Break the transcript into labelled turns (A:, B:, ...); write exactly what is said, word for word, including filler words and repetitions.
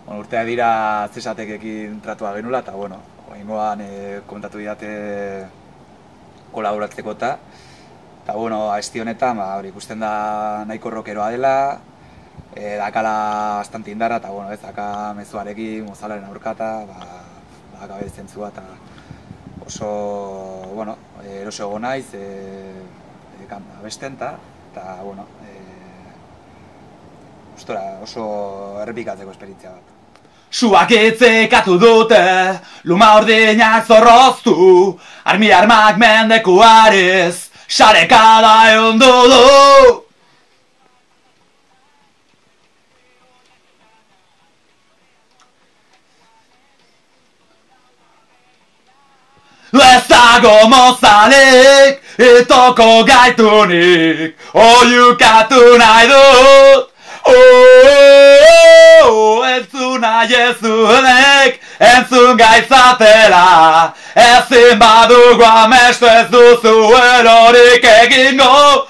A: Bueno, urtea dira zesatekekin tratua genula, eta, bueno, oraingoan e, komentatu didate kolaboratzeko eta, eta, bueno, abesti honetan, ba, hori ikusten da nahiko rockeroa dela, e, dakala bastante indarra, eta, bueno, ez, daka mezuarekin, mozalaren aurkata, ba, ba, gabe zentzua, eta oso, bueno, eroso ego naiz, e, e, abesten, eta, eta, bueno, e, ostora, oso errepikatzeko esperientzia bat.
B: Suak itzikatu dute, luma ordinak zorroztu, armi armak mendekuariz, sarekada eundu du. Ez dago mozalik, itoko gaitunik, oiukatu nahi dut. Oh, entzun nahi ez duenek, entzun gaitzatela, ezin badugu amestu ez duzu erorik egingo.